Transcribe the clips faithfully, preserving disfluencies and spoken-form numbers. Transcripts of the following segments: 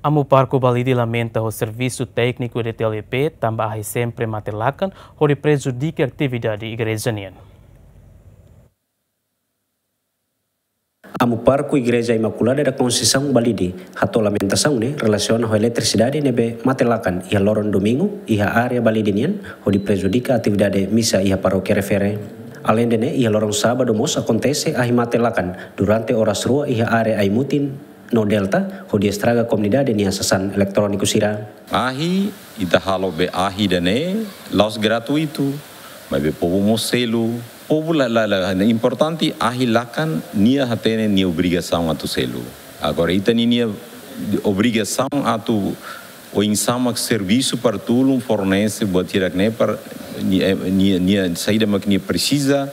Amu Parku Balide lamenta ho servisu tékniku E D T L E P tanba ahi sempre mate lakan hodi prejudika atividade igreja nian. Amu Parku Igreja Imakulada da Conceição Balide hato'o lamentasaun ne'e relasiona ho eletrisidade ne'ebé mate lakan iha loron domingu iha área Balide nian hodi prejudika atividade misa iha parókia refere. Aleinde ne'e, iha loron sábadu mós akontese ahi mate lakan durante oras rua iha área Aimutin no Delta hodi estraga komunidade nia sasán eletróniku sira. Ahi, ita halo be ahi ida-ne'e la'ós gratuitu, maibé povu mós selu. Povu la, la, la, importante ahi lakan nia hatene nia obrigasaun atu selu. Agora ita ninia obrigasaun atu oinsá mak servisu para tulun fornese buat hirak-ne'e para nia, nia, nia saida mak nia presiza.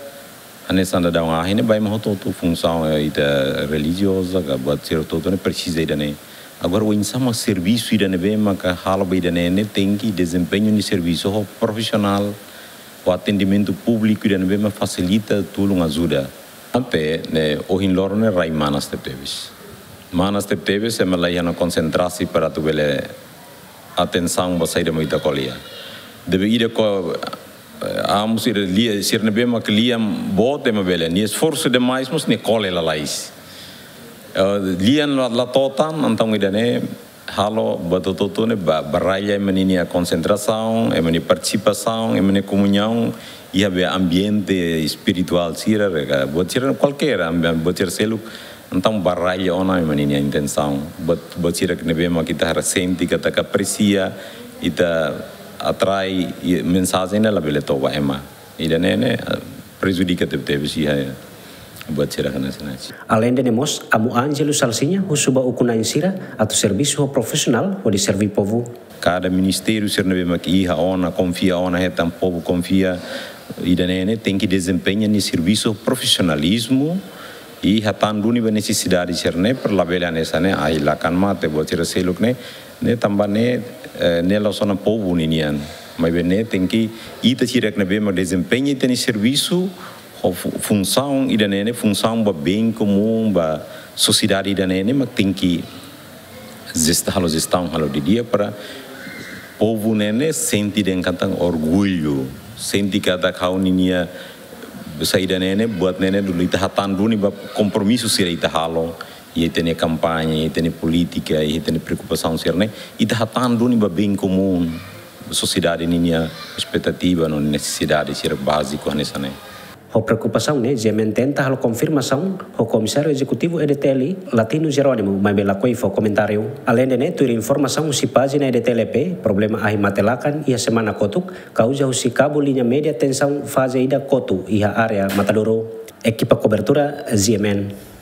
Hanesan daudaun ahi ne'e ba ema hotu-hotu, funsaun, eh, ita relijioza ka buat sira hotu-hotu ne'e presiza ida-ne'e. Agora oinsá mak servisu ida ne'ebé maka halo ba ida-ne'e ne'e tenke dezempeñu nia servisu ho profisionál, ho atendimentu públiku ida ne'ebé mak fasilita, tulun, ajuda. Ante ne'e ohin loron ne'e rai manas tebetebes. Manas tebetebes, ema la iha ona konsentrasaun para atu bele atensaun ba saida mak ita ko'alia. Debe ida ko, eh, amu sira lia, sira ne'ebé mak lian boot ema bele. Nia esforsu demais mós nia kole lalais. Eh, lian la, la to'o tan, entaun ida-ne'e halo buat hotu-hotu ne'e ba, baralla ema ninia konsentrasaun, ema nia partisipasaun, ema nia komuñaun iha be ambiente espirituál sira, re ka buat sira kualkér, ambi-, buat sira seluk. Entaun baralla ona ema ninia intensaun. Buat, buat sira ne'ebé mak ita haree sente katak apresia, ita atrai, i mensajen ne'e labele to'o ba ema. Ida-ne'e ne'e, eh, prejudika tebetebes iha buat sira hanesan ne'e. Aleinde ne'e mós, Amu Ângelo Salsinha husu ba ukun-na'in sira atu servisu ho profisionál hodi serve povu. Kada ministériu sira ne'ebé mak iha ona, konfia ona, hetan povu konfia, ida-ne'e ne'e tenke dezempeña nia servisu profisionalizmu i hatán duni ba nesesidade sira-ne'e para labele hanesan ne'e ahi lakan mate buat sira seluk ne'e, ne'e tanba ne'e, eh, ne'e la'ós ona povu ninian. Maibé ne'e tenke ita sira ne'ebé mak dezempeña ita-nia servisu ho fu-, funsaun ida-ne'e ne'e, funsaun ba bem komún, ba sosiedade ida-ne'e ne'e mak tenke jesta-, halo jestaun, halo didi'ak para povu ne'e ne'e sente dehan katak orgullu, sente katak ha'u ninia saida ne'e ne'e, buat ne'e ne'e dulu ita hatán duni ba kompromisu sira ita halo, iha ita-nia kampaña, iha ita-nia polítika, iha ita-nia preokupasaun sira-ne'e, ita hatán duni ba bem komún, sosiedade ninia espetativa no nesesidade sira báziku hanesan ne'e. Ho preokupasaun ne'e, GMN tenta halo konfirmasaun ho Komisáriu Ezekutivu E D T L, Latino Jerónimo, maibé lakohi fó komentáriu. Aleinde ne'e, tuir informasaun husi pájina E D T L P, problema ahi mate lakan iha semana kotuk kauza husi kabu liña média tensaun faze ida kotu iha área Matadouro. Ekipa kobertura, GMN.